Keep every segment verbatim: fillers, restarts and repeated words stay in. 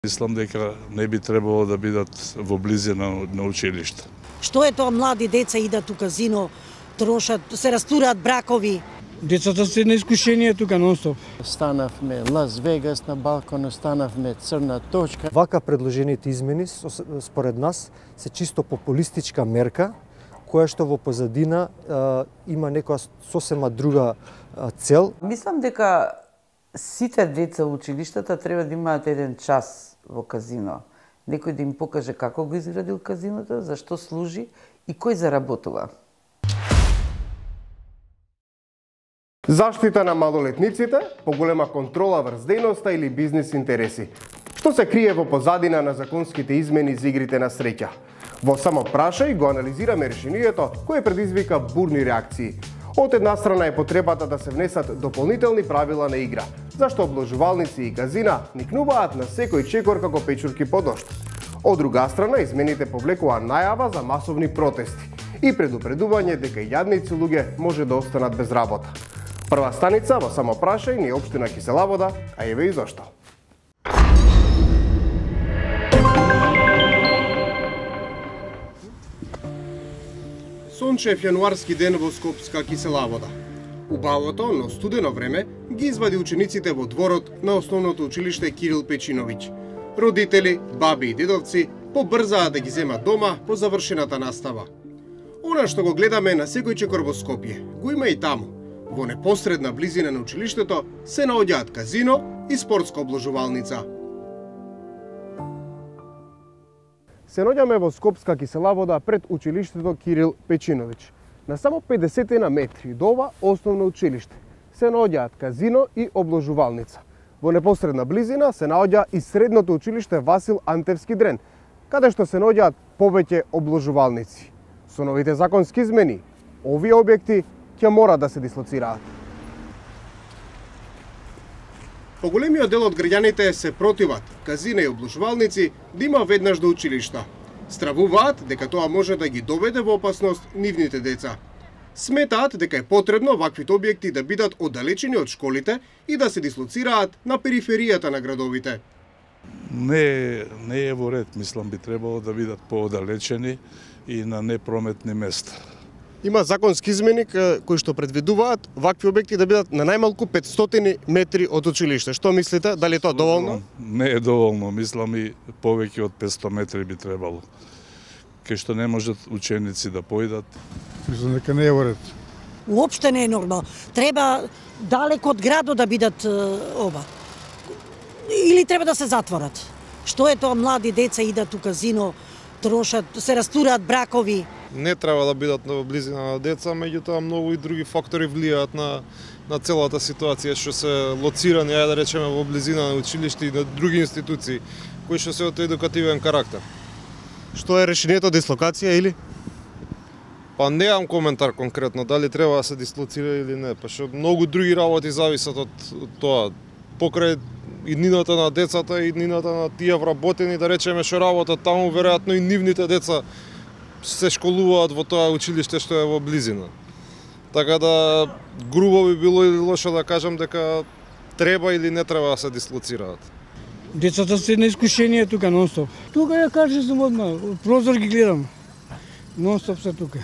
Мислам дека не би требало да бидат во близина на училиште. Што е тоа млади деца идат у казино, трошат, се растураат бракови? Децата се на искушение тука нон-стоп. Станавме Лас Вегас на балкон, станавме црна точка. Вака предложените измени според нас се чисто популистичка мерка која што во позадина е, има некоја сосема друга е, цел. Мислам дека сите деца во училиштата треба да имаат еден час во казино. Некој да им покаже како го изградил казиното, зашто служи и кој заработува. Заштита на малолетниците, поголема контрола врз дејноста или бизнис интереси. Што се крие во позадина на законските измени за игрите на среќа? Во Само прашај го анализираме решението кое предизвика бурни реакции. Од една страна е потребата да се внесат дополнителни правила на игра, зашто обложувалници и казина никнуваат на секој чекор како печурки по дожд. Од друга страна, измените повлекува најава за масовни протести и предупредување дека јадници луѓе може да останат без работа. Прва станица во Само прашај ни општина Кисела Вода, а еве и зашто. Сончев јануарски ден во Скопска Кисела Вода. Убавото, но студено време ги извади учениците во дворот на основното училиште Кирил Печиновиќ. Родители, баби и дедовци побрзаа да ги земат дома по завршената настава. Она што го гледаме на секој чекор во Скопје, го има и таму. Во непосредна близина на училиштето се наоѓаат казино и спортска обложувалница. Се наоѓаме во Скопска Кисела Вода пред училиштето Кирил Печиновиќ. На само педесет метри до ова основно училиште се наоѓаат казино и обложувалница. Во непосредна близина се наоѓа и средното училиште Васил Антевски Дрен, каде што се наоѓаат повеќе обложувалници. Со новите законски измени, овие објекти ќе мора да се дислоцираат. Поголемиот дел од граѓаните се противат казина и обложувалници да има веднаш до училишта. Стравуваат дека тоа може да ги доведе во опасност нивните деца. Сметаат дека е потребно ваквите објекти да бидат оддалечени од школите и да се дислоцираат на периферијата на градовите. Не, не е во ред, мислам би требало да бидат поодалечени и на непрометни места. Има законски измени кои што предвидуваат вакви објекти да бидат на најмалку петстотини метри од училиште. Што мислите? Дали тоа доволно? Не е доволно, мислам и повеќе од петсто метри би требало. Кај што не можат ученици да појдат. Мислам дека не е во ред. Уопште не е нормално. Треба далеко од градот да бидат оба. Или треба да се затворат. Што е тоа млади деца идат у казино, трошат, се растураат бракови. Не треба да бидат во близина на деца, меѓутоа многу и други фактори влијаат на на целата ситуација што се лоцирани, ајде да речеме, во близина на училиште и на други институции кои што се од едукативен карактер. Што е решението, дислокација или? Па немам коментар конкретно дали треба да се дислоцира или не, па што многу други работи зависат од, од тоа. Покрај иднината на децата и иднината на тие вработени, да речеме, што работат таму, веројатно и нивните деца се школуваат во тоа училиште што е во близина. Така да грубо би било или лошо да кажам дека треба или не треба да се дислоцираат. Децата се на искушение тука нон-стоп. Тука ја кажеш слободно, од прозор ги гледам. Нон-стоп се тука.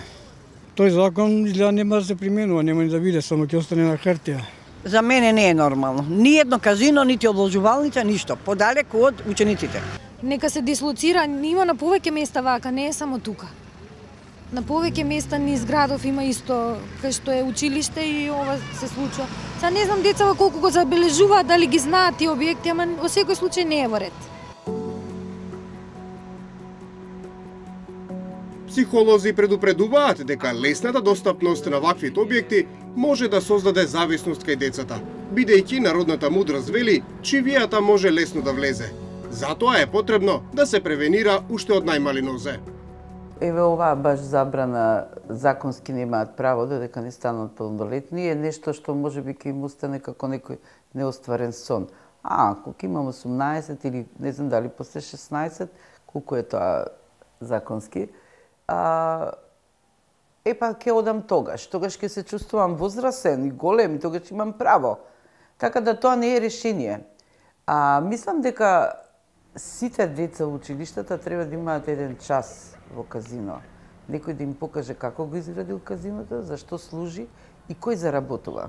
Тој закон изгледа нема да се применува, нема ни да биде, само ќе остане на хартија. За мене не е нормално. Ни едно казино, нити обложувалница, ништо. Подалеку од учениците. Нека се дислоцира, има на повеќе места вака, не е само тука. На повеќе места низ градов има исто, кај што е училиште и ова се случува. Са не знам децава колку го забележуваат, дали ги знаат тие објекти, ама во секој случај не е во ред. Психолози предупредуваат дека лесната достапност на ваквите објекти може да создаде зависност кај децата, бидејќи народната мудрост вели, чивијата може лесно да влезе. Затоа е потребно да се превенира уште од најмали нозе. Еве оваа баш забрана законски немаат право додека не станат полнолетни е нешто што може би ќе им остане како некој неостварен сон. А ако ќе имам осумнаесет или не знам дали после шеснаесет, колку е тоа законски, а, епа ќе одам тогаш. Тогаш ќе се чувствувам возрасен и голем и тогаш имам право. Така да тоа не е решение. А мислам дека сите деца во училиштата треба да имаат еден час во казино. Некој да им покаже како го изградил казиното, зашто служи и кој заработува.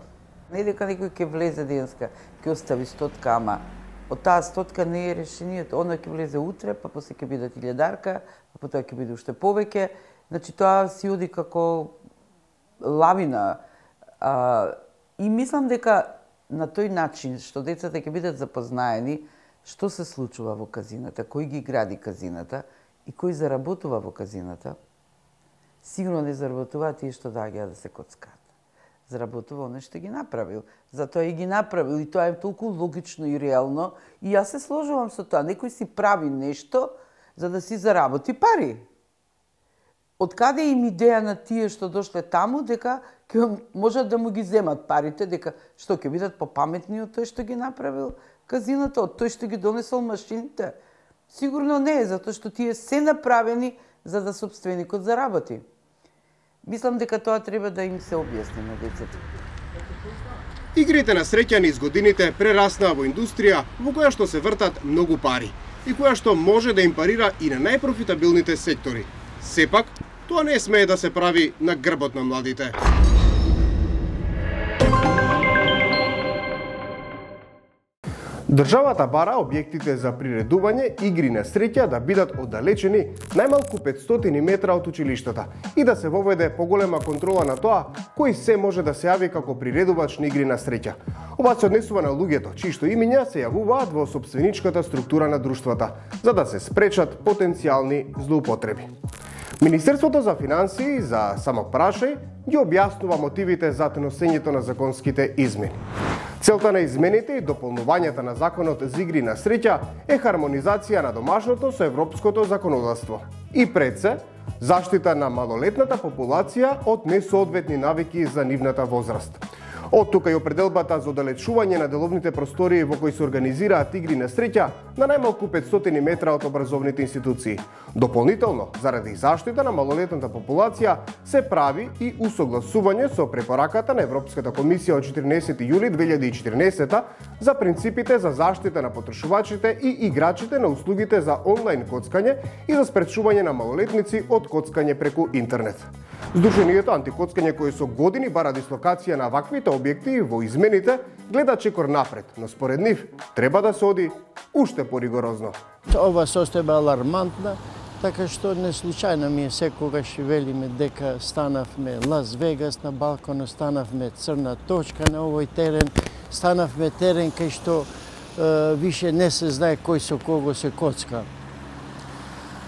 Не дека некој ќе влезе денеска, ќе остави стотка, ама од таа стотка не е решението. Она ќе влезе утре, па после ќе биде илјадарка, па потоа ќе биде уште повеќе. Значи тоа си оди како лавина. А, и мислам дека на тој начин што децата ќе бидат запознаени што се случува во казината, кој ги гради казината и кој заработува во казината, сигурно не заработува тие што доаѓаат да се коцкаат. Заработува оној што ги направил. Затоа и ги направил и тоа е толку логично и реално. И јас се сложувам со тоа. Некој си прави нешто за да си заработи пари. Од каде им идеја на тие што дошле таму дека ќе можат да му ги земат парите, дека што ќе бидат попаметни од тој што ги направил казиното, од тој што ги донесол машините? Сигурно не е, затоа што тие се направени за да собственикот заработи. Мислам дека тоа треба да им се објасни на децата. Игрите на среќа низ годините прераснаа во индустрија во која што се вртат многу пари и која што може да им парира и на најпрофитабилните сектори. Сепак, тоа не смее да се прави на грбот на младите. Државата бара објектите за приредување игри на среќа да бидат оддалечени најмалку петстотини метра од училиштата и да се воведе поголема контрола на тоа кој се може да се јави како приредувач на игри на среќа. Ова се однесува на луѓето чии што имиња се јавуваат во сопственичката структура на друштвата, за да се спречат потенцијални злоупотреби. Министерството за финансии за само прашај ги објаснува мотивите за носењето на законските измени. Целта на измените и дополнувањата на законот за игри на среќа е хармонизација на домашното со европското законодавство. И пред се, заштита на малолетната популација од несоодветни навики за нивната возраст. Од тука и определбата за оддалечување на деловните простории во кои се организираат игри на среќа на најмалку петстотини метра од образовните институции. Дополнително, заради заштита на малолетната популација, се прави и усогласување со препораката на Европската комисија од четирнаесети јули две илјади и четирнаесета за принципите за заштита на потрошувачите и играчите на услугите за онлайн коцкање и за спречување на малолетници од коцкање преку интернет. Сдруженијето антикоцкање кој со години бара дислокација на ваквите објекти во измените гледа чекор напред, но според нив треба да се оди уште поригорозно. Ова состојба е алармантна, така што не случајно ми е секогаш велиме дека станавме Лас Вегас на балконот, станавме црна точка на овој терен, станавме терен кај што е, више не се знае кој со кого се коцка.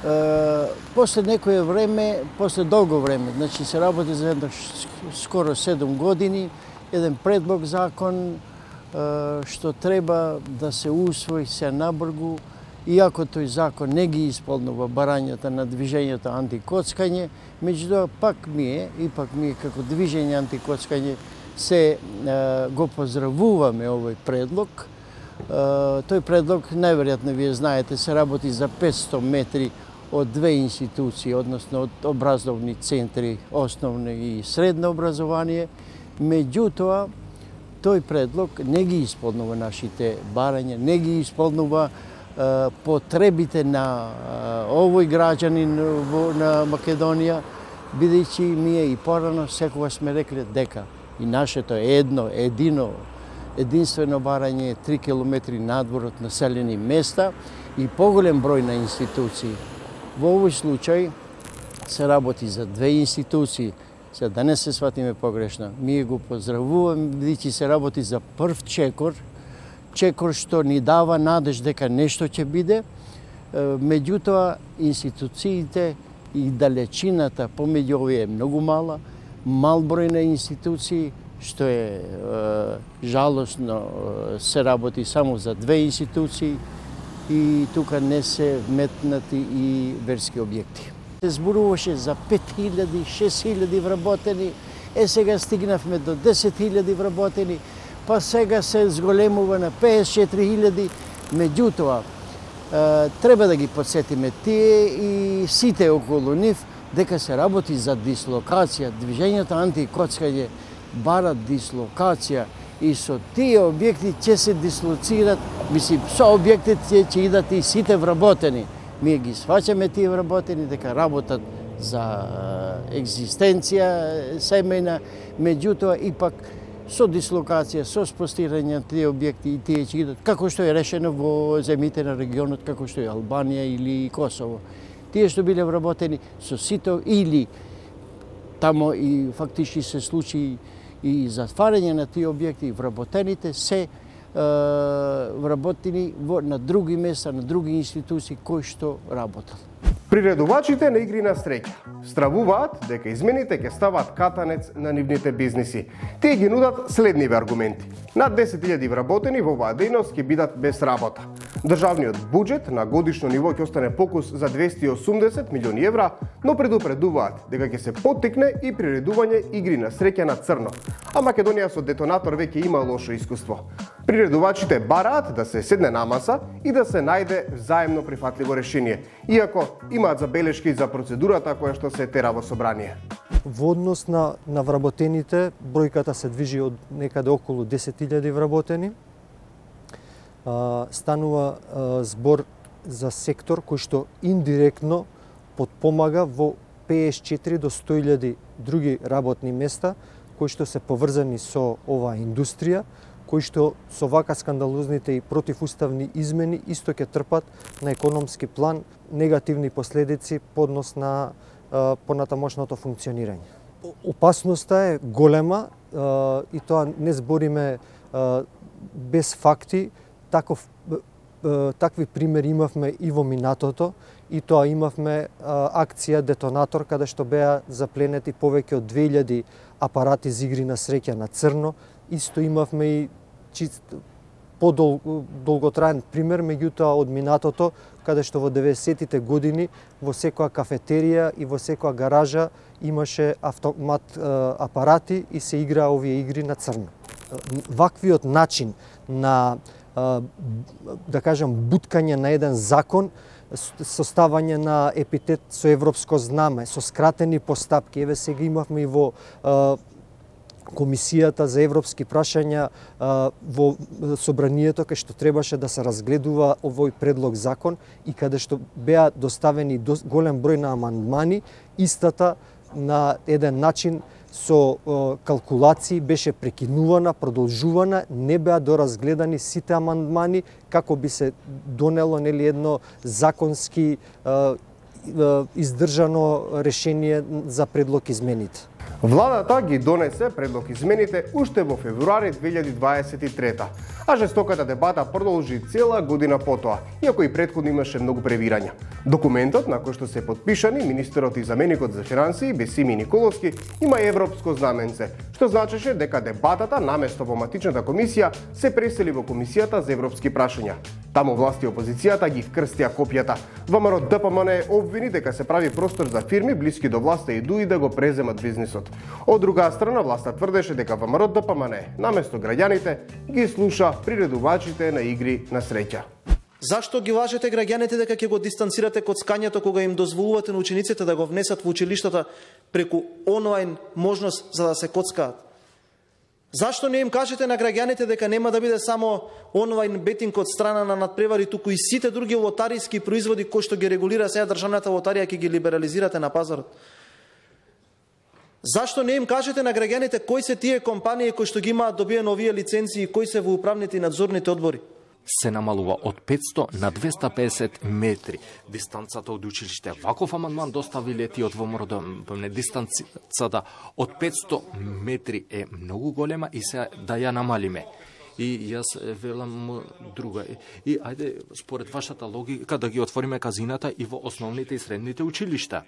Uh, после некое време, после долго време, значи се работи за едно скоро седум години, еден предлог закон uh, што треба да се усвои се набргу, иако тој закон не ги исполнува барањата на движењето антикоцкање, меѓутоа пак ние, ипак ние како движење антикоцкање се uh, го поздравуваме овој предлог. Uh, тој предлог, најверојатно вие знаете, се работи за петсто метри од две институции, односно од образовни центри, основно и средно образование. Меѓутоа, тој предлог не ги исполнува нашите барања, не ги исполнува е, потребите на е, овој граѓанин во, на Македонија, бидејќи ние и порано секогаш сме рекле дека и нашето едно, едино, единствено барање е три километри надвор од населени места и поголем број на институции. Во овој случај се работи за две институции. Сега да не се сватиме погрешно, ние го поздравуваме, бидејќи се работи за прв чекор, чекор што ни дава надеж дека нешто ќе биде, меѓутоа институциите и далечината помеѓу овие е многу мала, мал број на институции, што е, е жалосно, се работи само за две институции и тука не се вметнати и верски објекти. Се зборуваше за пет илјади, шест илјади вработени, е сега стигнавме до десет илјади вработени, па сега се зголемува на пеесет и четири илјади, меѓутоа треба да ги подсетиме тие и сите околу нив дека се работи за дислокација. Движењето антикоцкање бара дислокација и со тие објекти ќе се дислоцират, мислим, со објектите ќе идат и сите вработени. Ние ги сваќаме тие вработени дека работат за екзистенција семејна, меѓутоа ипак со дислокација, со спостирање на тие објекти и тие ќе идат, како што е решено во земите на регионот, како што е Албанија или Косово. Тие што биле вработени со сито или тамо и фактички се случи и затварање на тие објекти, вработените се е, вработени на други места, на други институции кои што работат. Приредувачите на игри на среќа стравуваат дека измените ќе стават катанец на нивните бизниси. Тие ги нудат следниви аргументи. Над десет илјади вработени во оваа дејност ќе бидат без работа. Државниот буџет на годишно ниво ќе остане покус за двесте и осумдесет милиони евра, но предупредуваат дека ќе се поттикне и приредување игри на среќа на црно. А Македонија со детонатор веќе има лошо искуство. Приредувачите бараат да се седне на маса и да се најде взаемно прифатливо решение, иако имаат забелешки за процедурата која што се тера во собрание. Во однос на, на вработените, бројката се движи од некаде околу десет илјади вработени. А, станува а, збор за сектор кој што индиректно подпомага во педесет и четири до сто илјади други работни места кои што се поврзани со оваа индустрија, кои што со вака скандалозните и противуставни измени исто ќе трпат на економски план негативни последици по однос на а, понатамошното функционирање. Опасноста е голема а, и тоа не збориме а, без факти. Таков, а, такви примери имавме и во минатото, и тоа имавме а, акција Детонатор, каде што беа запленети повеќе од две илјади апарати за игри на среќа на црно. Исто имавме и чист подолготраен пример, меѓутоа од минатото, каде што во деветдесетите години во секоја кафетерија и во секоја гаража имаше автомат апарати и се играа овие игри на црно. Ваквиот начин на, да кажам, буткање на еден закон, составање на епитет со европско знаме, со скратени постапки, еве сега имавме и во Комисијата за европски прашања во собранието, кај што требаше да се разгледува овој предлог закон и каде што беа доставени голем број на амандмани, истата на еден начин со калкулации беше прекинувана, продолжувана, не беа доразгледани сите амандмани како би се донело нели едно законски издржано решение за предлог измените. Владата ги донесе предлог измените уште во февруари две илјади дваесет и трета, а жестоката дебата продолжи цела година потоа, иако и претходно имаше многу превирања. Документот, на кој што се подпишани министерот и заменикот за финансии Бесими Николовски, има европско знаменце, што значеше дека дебатата наместо во матичната комисија се пресели во Комисијата за европски прашања. Таму власти и опозицијата ги вкрстија копијата. ВМРО Д П М Н обвини дека се прави простор за фирми блиски до власта и дуи да го преземат бизнисот. Од друга страна, власта тврдеше дека ВМРО Д П М Н наместо граѓаните ги слуша приредувачите на игри на среќа. Зашто ги лажете граѓаните дека ќе го дистанцирате коцкањето кога им дозволувате на учениците да го внесат во училиштата преку онлайн можност за да се коцкаат? Зашто не им кажете на граѓаните дека нема да биде само онлайн бетинг од страна на надпревари, туку и сите други лотариски производи кои што ги регулира сега државната лотарија ќе ги либерализирате на пазарот? Зашто не им кажете на граѓаните кои се тие компании кои што ги имаат добиено овие лиценци и кои се во управните и надзорните одбори? Се намалува од петсто на двеста педесет метри дистанцата од училиште. Ваков амандман доставиле ти од ВМРО Д П М Н. Дистанцата од петсто метри е многу голема и се да ја намалиме. И јас велам друга. И ајде, според вашата логика, да ги отвориме казината и во основните и средните училишта.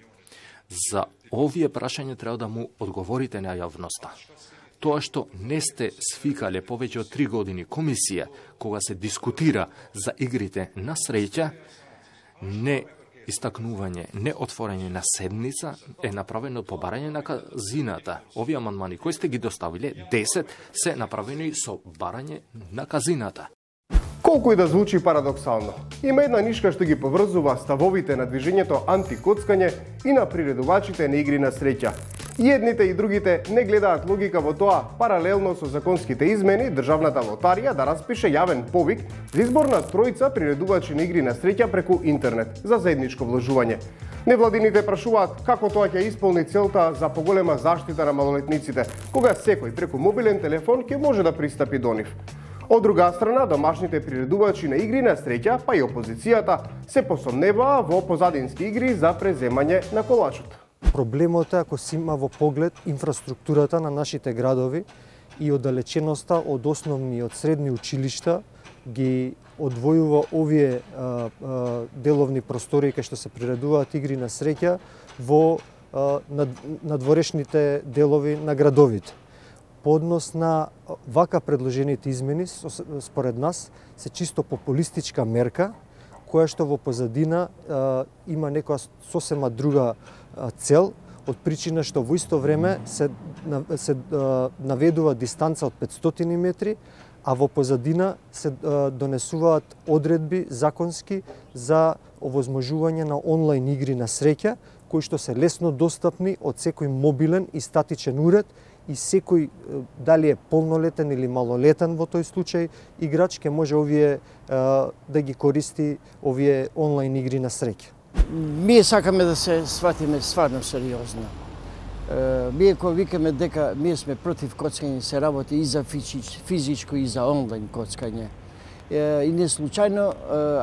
За овие прашања треба да му одговорите на јавноста. Тоа што не сте свикале повеќе од три години комисија кога се дискутира за игрите на среќа, не истакнување, не отворање на седница е направено по барање на казината. Овие амандмани кои сте ги доставиле, десет, се направени со барање на казината. Колку и да звучи парадоксално, има една нишка што ги поврзува ставовите на движењето антикоцкање и на приредувачите на игри на среќа. И едните и другите не гледаат логика во тоа, паралелно со законските измени, државната лотарија да распише јавен повик за избор на тројца приредувачи на игри на среќа преку интернет за заедничко вложување. Невладините прашуваат како тоа ќе исполни целта за поголема заштита на малолетниците, кога секој преку мобилен телефон ќе може да пристапи до нив. Од друга страна, домашните приредувачи на игри на среќа, па и опозицијата, се посомневаа во позадински игри за преземање на колачот. Проблемот е ако си има во поглед инфраструктурата на нашите градови и оддалеченоста од основни и од средни училишта ги одвојува овие а, а, деловни простори кај што се приредуваат игри на среќа во а, над, надворешните делови на градовите. По однос на вака предложените измени, според нас, се чисто популистичка мерка, која што во позадина а, има некоја сосема друга а, цел, од причина што во исто време се, се а, наведува дистанца од петстотини метри, а во позадина се а, донесуваат одредби законски за овозможување на онлайн игри на среќа, кои што се лесно достапни од секој мобилен и статичен уред, и секој, дали е полнолетен или малолетен во тој случај, играч ќе може овие да ги користи овие онлайн игри на среќа. Ние сакаме да се сватиме стварно сериозно. Ние кога викаме дека ние сме против коцкање, се работи и за физичко и за онлайн коцкање. И не случајно,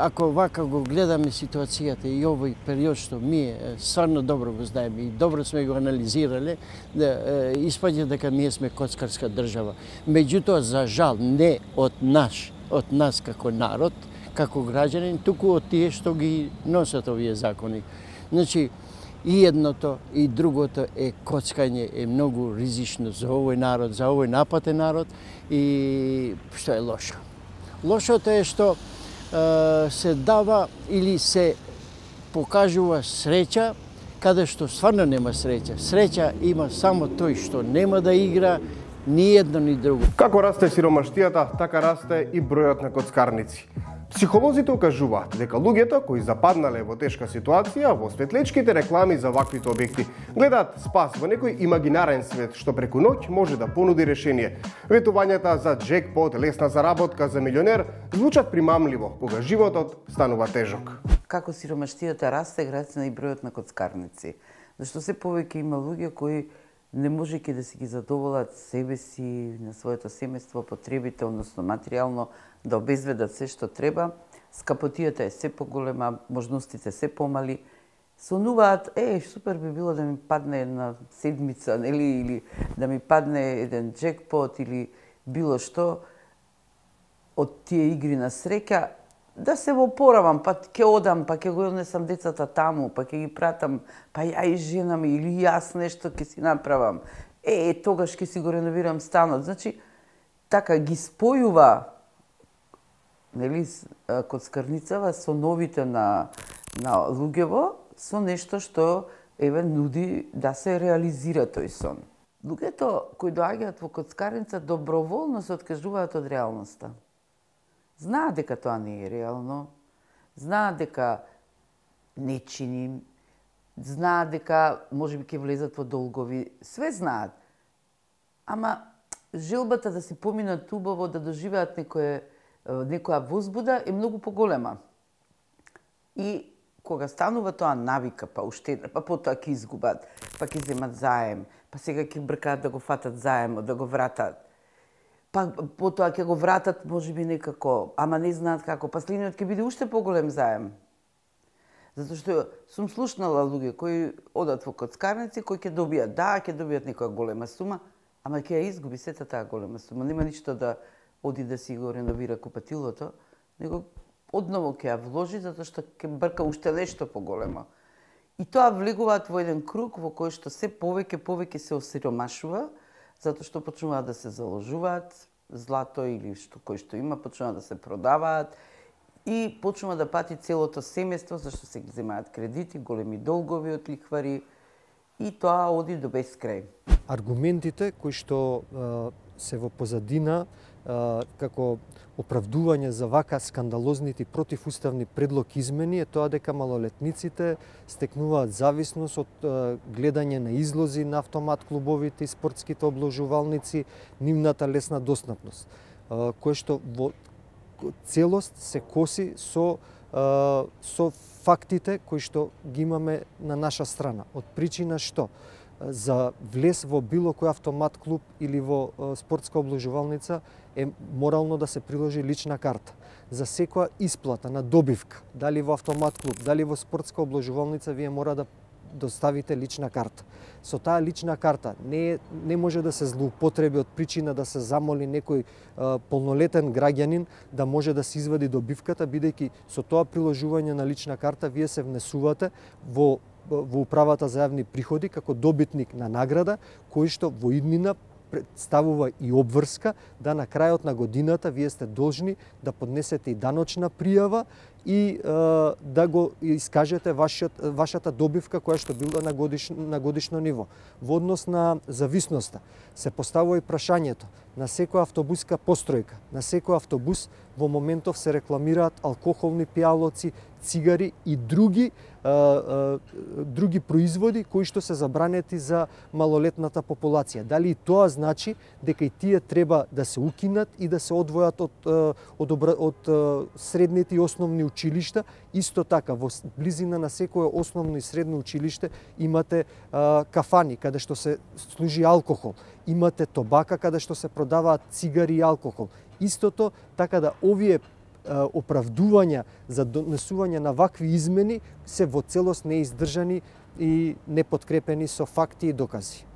ако вака го гледаме ситуацијата и овој период што ние стварно добро го знаеме и добро сме го анализирале, да испаѓа дека ние сме коцкарска држава. Меѓутоа, за жал, не од наш, од нас како народ, како граѓанин, туку од тие што ги носат овие закони. Значи, и едното и другото е коцкање е многу ризично за овој народ, за овој напатен народ и што е лошо. Лошото е што е, се дава или се покажува среќа каде што стварно нема среќа. Среќа има само тој што нема да игра ни едно ни друго. Како расте сиромаштијата, така расте и бројот на коцкарници. Психолозите укажуваат дека луѓето кои западнале во тешка ситуација во светлечките реклами за ваквите објекти гледаат спас во некој имагинарен свет што преку ноќ може да понуди решение. Ветувањата за джекпот, лесна заработка за милионер звучат примамливо кога животот станува тежок. Како сиромаштијата расте, расте и бројот на коцкарници. Зашто се повеќе има луѓе кои не можејќи да си ги задоволат себе си, на своето семејство, потребите, односно материјално, да обезведат се што треба, скапотијата е се поголема, можностите се помали, сонуваат, е, супер би било да ми падне една седмица, нели, или да ми падне еден джекпот, или било што од тие игри на среќа, да се во поравам, па ќе одам, па ќе го однесам децата таму, па ќе ги пратам, па ја и жена ми, или јас нешто ќе си направам. Е, тогаш ќе си го реновирам станот. Значи, така ги спојува, нели, коцкарницава со новите на, на луѓево, со нешто што, еве, нуди да се реализира тој сон. Луѓето кои доаѓаат во коцкарница доброволно се откажуваат од реалноста. Знаат дека тоа не е реално, знаат дека не чини, знаат дека можеби ќе влезат во долгови, све знаат. Ама желбата да си поминат убаво, да доживеат некое, некоја возбуда е многу поголема. И кога станува тоа навика, па уште, па потоа ќе изгубат, па ќе земат заем, па сега ќе бркаат да го фатат заемот, да го вратат. Па потоа ќе го вратат можеби некако, ама не знаат како, па следниот ќе биде уште поголем заем. Затоа што сум слушнала луѓе кои одат во коцкарници, кои ќе добијат, да, ќе добијат некоја голема сума, ама ќе ја изгуби сета таа голема сума. Нема ништо да оди да си го реновира купатилото, него одново ќе ја вложи затоа што ќе брка уште нешто поголемо. И тоа влегуваат во еден круг во кој што се повеќе повеќе се осиромашува, затоа што почнуваат да се заложуваат, злато или што кој што има, почнуваат да се продаваат и почнува да пати целото семејство, зашто се ги земаат кредити, големи долгови од лихвари и тоа оди до безкрај. Аргументите кои што се во позадина како оправдување за вака скандалозните противуставни предлог измени е тоа дека малолетниците стекнуваат зависност од гледање на излози на автомат клубовите и спортските обложувалници, нивната лесна достапност, кое што во целост се коси со со фактите кои што ги имаме на наша страна. Од причина што за влез во било кој автомат клуб или во спортска обложувалница е морално да се приложи лична карта. За секоја исплата на добивка, дали во автомат клуб, дали во спортска обложувалница, вие мора да доставите лична карта. Со таа лична карта не, не може да се злоупотреби од причина да се замоли некој а, полнолетен граѓанин да може да се извади добивката, бидејќи со тоа приложување на лична карта вие се внесувате во, во управата за јавни приходи како добитник на награда, кој што во иднина представува и обврска да на крајот на годината вие сте должни да поднесете и даночна пријава и е, да го искажете вашиот, вашата добивка која што била на годишно, на годишно ниво. Во однос на зависноста се поставува и прашањето на секоја автобуска постројка, на секој автобус во моментов се рекламираат алкохолни пијалоци, цигари и други а, а, други производи кои што се забранети за малолетната популација. Дали и тоа значи дека и тие треба да се укинат и да се одвојат од од, од, од средните и основни училишта? Исто така во близина на секое основно и средно училиште имате а, кафани каде што се служи алкохол, имате тобака каде што се продаваат цигари и алкохол. Истото така да овие оправдувања за донесување на вакви измени се во целост неиздржани и непоткрепени со факти и докази.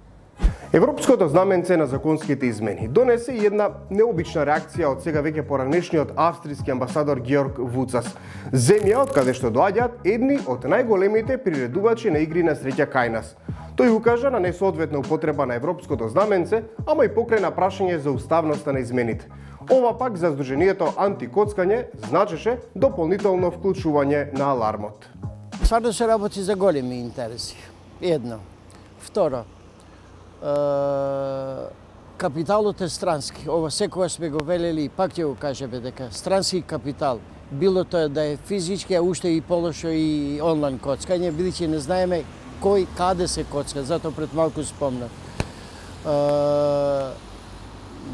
Европското знаменце на законските измени донесе и една необична реакција од сега веќе поранешниот австријски амбасадор Георг Вуцас, земја од каде што доаѓаат едни од најголемите приредувачи на игри на среќа кај нас. Тој укажа на несоодветна употреба на европското знаменце, ама и покрена прашање за уставноста на измените. Ова пак за Сдруженијето антикоцкање значеше дополнително вклучување на алармот. Стварно се работи за големи интереси. Едно. Второ, капиталот е странски. Ова секогаш сме го велели и пак ќе го кажеме дека странски капитал, било тоа да е физички, а уште и полошо и онлайн коцкање, бидејќи не знаеме кој каде се коцка, затоа пред малку спомнав.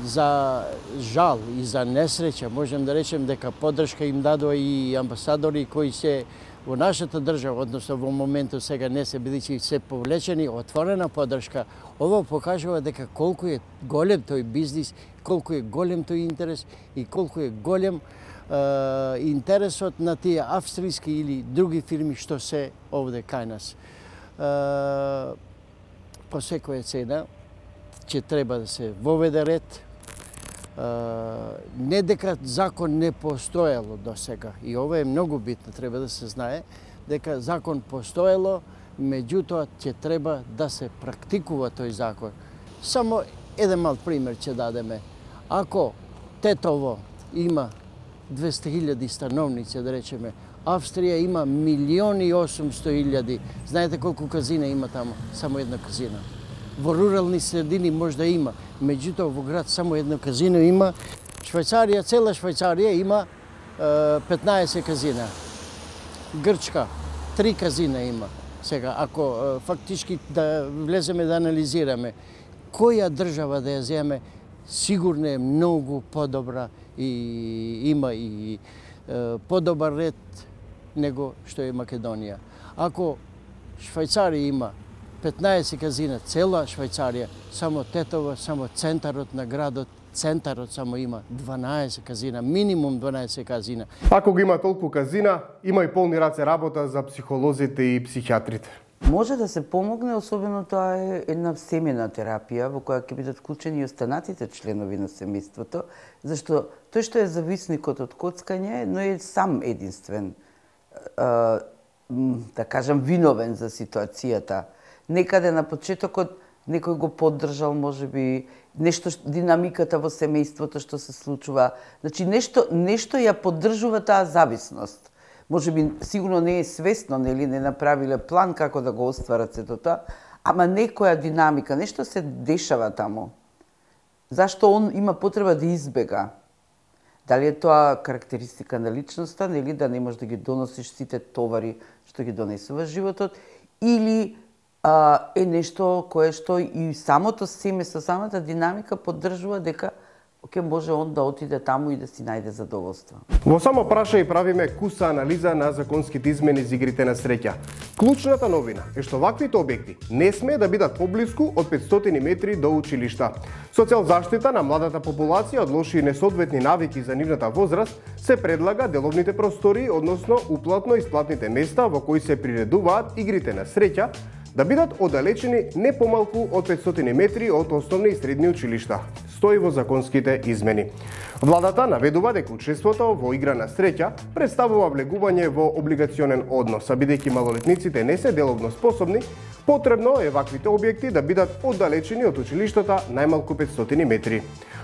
За жал и за несреќа можем да речем дека поддршка им дадоа и амбасадори кои се во нашата држава, односно во моментот сега не се, бидејќи се повлечени, отворена поддршка. Ова покажува дека колку е голем тој бизнис, колку е голем тој интерес и колку е голем е, интересот на тие австријски или други фирми што се овде кај нас. Е, по секоја цена ќе треба да се воведе ред. Uh, не дека закон не постоело до сега, и ова е многу битно, треба да се знае, дека закон постоело, меѓутоа ќе треба да се практикува тој закон. Само еден мал пример ќе дадеме. Ако Тетово има двесте илјади становници, да речеме, Австрија има милиони и осумсто илјади. Знаете колку казина има таму? Само една казина. Во рурални средини може да има, меѓутоа во град само едно казино има. Швајцарија, цела Швајцарија има е, петнаесет казина. Грчка, три казина има. Сега, ако е, фактички да влеземе да анализираме, која држава да ја земе, сигурно е многу подобра и има и е, подобар ред него што е Македонија. Ако Швајцарија има петнаесет казина, цела Швајцарија, само Тетово, само центарот на градот, центарот само има дванаесет казина, минимум дванаесет казина. Ако го има толку казина, има и полни раце работа за психолозите и психијатрите. Може да се помогне, особено тоа е една семена терапија во која ќе бидат вклучени и останатите членови на семејството, зашто тој што е зависникот од коцкање, но е сам единствен, да кажам, виновен за ситуацијата. Некаде на почетокот некој го поддржал, можеби, нешто, динамиката во семејството што се случува. Значи, нешто, нешто ја поддржува таа зависност. Можеби, сигурно не е свесно, нели, не направиле план како да го остварат сето тоа, ама некоја динамика, нешто се дешава таму. Зашто он има потреба да избега? Дали е тоа карактеристика на личноста, нели да не можеш да ги доносиш сите товари што ги донесува животот, или а, е нешто кое што и самото семе со самата динамика поддржува дека ќе може он да отиде таму и да си најде задоволство. Во само праша и правиме куса анализа на законските измени за игрите на среќа. Клучната новина е што ваквите објекти не сме да бидат поблиску од петстотини метри до училишта. Со цел заштита на младата популација од лоши и несоодветни навики за нивната возраст, се предлага деловните простори, односно уплатно-исплатните места во кои се приредуваат игрите на среќа, да бидат оддалечени не помалку од петстотини метри од основни и средни училишта. Стои во законските измени. Владата наведува дека учеството во игра на среќа представува влегување во облигационен однос, а бидејќи малолетниците не се деловно способни, потребно е ваквите објекти да бидат оддалечени од училиштата најмалку петстотини метри.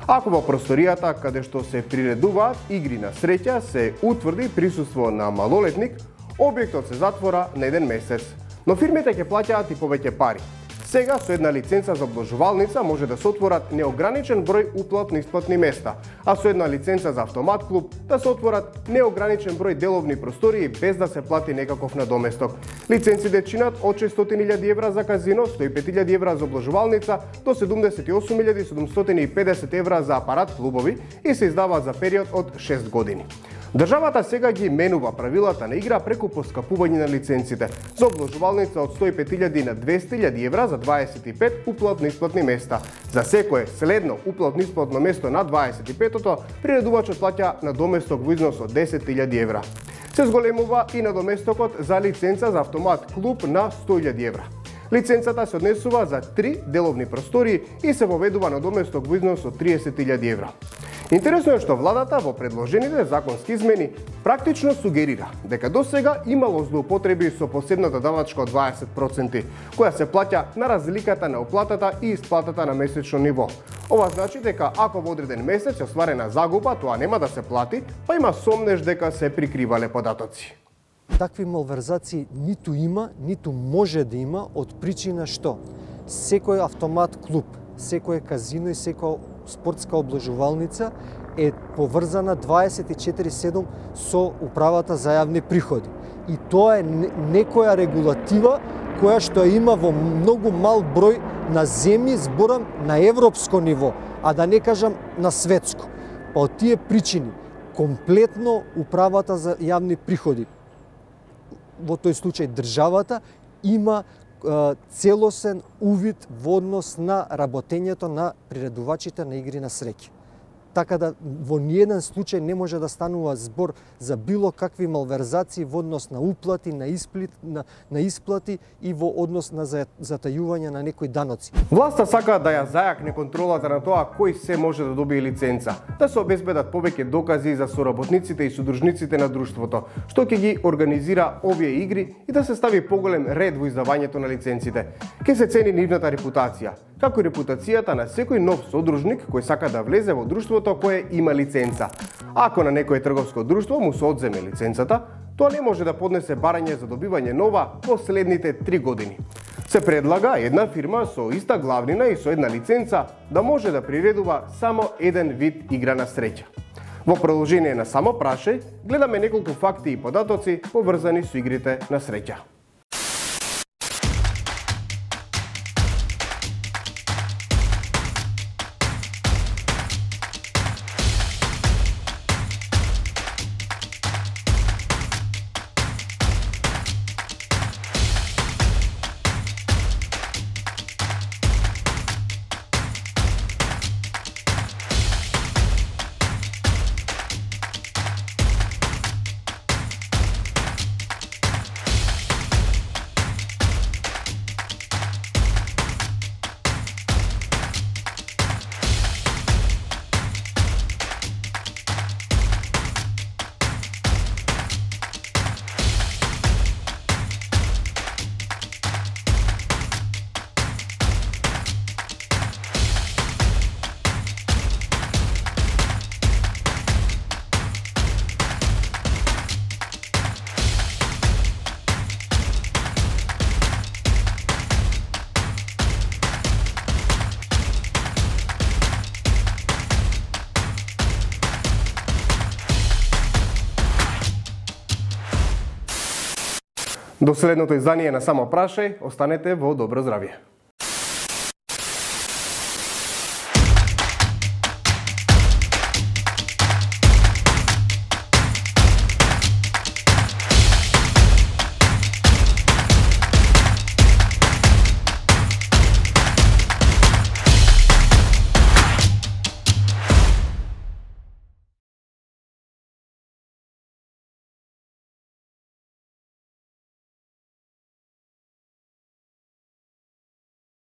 Ако во просторијата каде што се приредуваат игри на среќа се утврди присуство на малолетник, објектот се затвора на еден месец. Но фирмите ќе плаќаат и повеќе пари. Сега со една лиценца за обложувалница може да се отворат неограничен број уплатно-исплатни места, а со една лиценца за автомат клуб да се отворат неограничен број деловни простории без да се плати некаков надоместок. Лиценците чинат од шестстотини илјади евра за казино, сто и пет илјади евра за обложувалница до седумдесет и осум илјади седумстотини и педесет евра за апарат клубови и се издаваат за период од шест години. Државата сега ги менува правилата на игра преку поскапување на лиценците. За обложувалница од сто и пет илјади на двесте илјади евра за дваесет и пет уплатно-исплатни места. За секое следно уплатно-исплатно место на дваесет и петото, приредувачот плаќа надоместок во износ од десет илјади евра. Се зголемува и надоместокот за лиценца за автомат клуб на сто илјади евра. Лиценцата се однесува за три деловни простории и се воведува надоместок во износ од триесет илјади евра. Интересно е што владата во предложените законски измени практично сугерира дека досега имало злоупотреби со посебната давачка од дваесет проценти, која се плаќа на разликата на уплатата и исплатата на месечно ниво. Ова значи дека ако во одреден месец е остварена загуба, тоа нема да се плати, па има сомнеж дека се прикривале податоци. Такви малверзации ниту има, ниту може да има од причина што секој автомат клуб, секој казино и секоја спортска обложувалница е поврзана дваесет и четири седум со управата за јавни приходи. И тоа е некоја регулатива која што има во многу мал број на земји, зборам на европско ниво, а да не кажам на светско. Па од тие причини, комплетно управата за јавни приходи, во тој случај државата, има целосен увид во однос на работењето на приредувачите на игри на среќа. Така да во ниеден случај не може да станува збор за било какви малверзации во однос на уплати, на, исплит, на, на исплати и во однос на затајување на некои даноци. Власта сака да ја зајакне контролата на тоа кој се може да добие лиценца, да се обезбедат повеќе докази за соработниците и содружниците на друштвото, што ќе ги организира овие игри и да се стави поголем ред во издавањето на лиценците. Ке се цени нивната репутација, како и репутацијата на секој нов содружник кој сака да влезе во друштвото кое има лиценца. Ако на некое трговско друштво му се одземе лиценцата, тоа не може да поднесе барање за добивање нова во следните три години. Се предлага една фирма со иста главнина и со една лиценца да може да приредува само еден вид игра на среќа. Во продолжение на само прашај, гледаме неколку факти и податоци поврзани со игрите на среќа. До следното издание на Само прашај, останете во добро здравје.